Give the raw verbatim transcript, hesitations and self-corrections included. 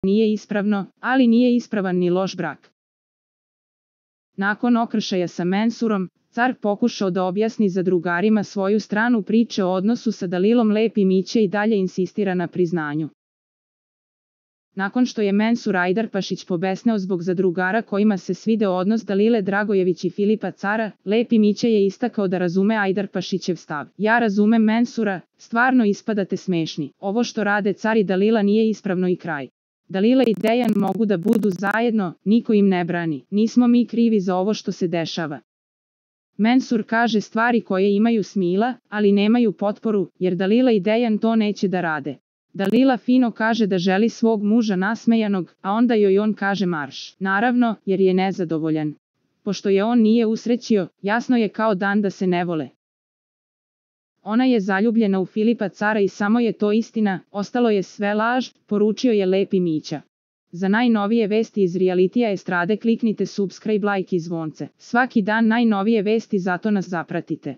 nije ispravno, ali nije ispravan ni loš brak. Nakon okršaja sa Mensurom, car pokušao da objasni zadrugarima svoju stranu priče o odnosu sa Dalilom, Lepi Mića i dalje insistira na priznanju. Nakon što je Mensur Ajdarpašić pobesneo zbog zadrugara kojima se svideo odnos Dalile Dragojević i Filipa Cara, Lepi Mića je istakao da razume Ajdarpašićev stav. Ja razumem Mensura, stvarno ispadate smešni. Ovo što rade Car i Dalila nije ispravno i kraj. Dalila i Dejan mogu da budu zajedno, niko im ne brani. Nismo mi krivi za ovo što se dešava. Mensur kaže stvari koje imaju smisla, ali nemaju potporu, jer Dalila i Dejan to neće da rade. Dalila fino kaže da želi svog muža nasmejanog, a onda joj on kaže marš. Naravno, jer je nezadovoljan. Pošto je on nije usrećio, jasno je kao dan da se ne vole. Ona je zaljubljena u Filipa Cara i samo je to istina, ostalo je sve laž, poručio je Lepi Mića. Za najnovije vesti iz realitija estrade kliknite subscribe, like i zvonce. Svaki dan najnovije vesti, zato nas zapratite.